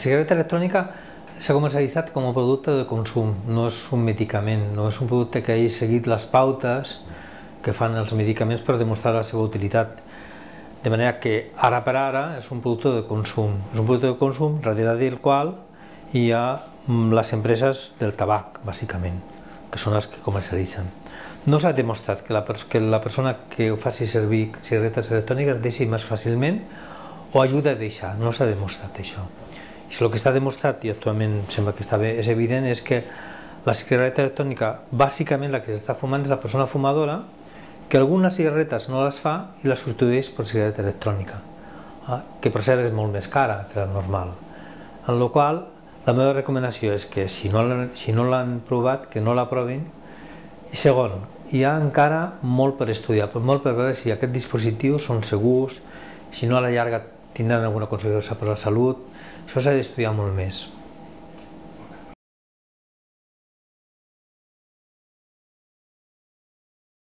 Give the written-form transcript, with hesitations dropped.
cigarreta electrònica s'ha comercialitzat com a producte de consum, no és un medicament, no és un producte que hagi seguit les pautes que fan els medicaments per demostrar la seva utilitat. De manera que ara per ara és un producte de consum, darrere del qual hi ha les empreses del tabac, bàsicament, que són les que comercialitzen. No s'ha demostrat que la persona que faci servir cigarretes electròniques deixi més fàcilment o ajuda a deixar, no s'ha demostrat això. I el que està demostrat, i actualment sembla que és evident, és que la cigarreta electrònica, bàsicament la que s'està fumant és la persona fumadora, que algunes cigarretes no les fa i les substitueix per cigarreta electrònica, que per cert és molt més cara que la normal. En la qual la meva recomanació és que si no l'han provat, que no la provin. I segon, hi ha encara molt per estudiar, molt per veure si aquests dispositius són segurs, si no a la llarga tindran alguna conseqüència per a la salut. Això s'ha d'estudiar molt més.